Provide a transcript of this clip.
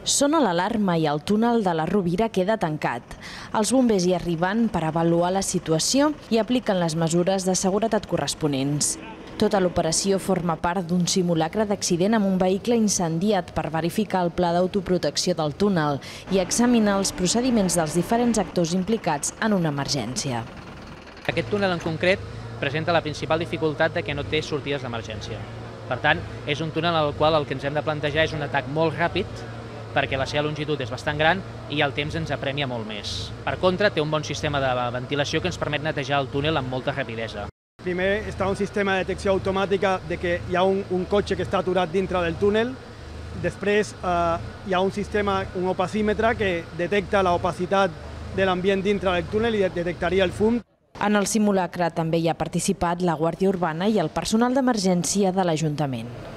Sona l'alarma i el túnel de la Rovira queda tancat. Els bombers hi arriben per avaluar la situació i apliquen les mesures de seguretat corresponents. Tota l'operació forma part d'un simulacre d'accident amb un vehicle incendiat per verificar el pla d'autoprotecció del túnel i examinar els procediments dels diferents actors implicats en una emergència. Aquest túnel en concret presenta la principal dificultat de que no té sortides d'emergència. Per tant, és un túnel al qual el que ens hem de plantejar és un atac molt ràpid, perquè la seva longitud és bastant gran i el temps ens apremia molt més. Per contra, té un bon sistema de ventilació que ens permet netejar el túnel amb molta rapidesa. Primer està un sistema de detecció automàtica de que hi ha un cotxe que està aturat dintre del túnel. Després hi ha un sistema, un opacímetre que detecta l'opacitat de l'ambient dintre del túnel i detectaria el fum. En el simulacre també hi ha participat la Guàrdia Urbana i el personal d'emergència de l'Ajuntament.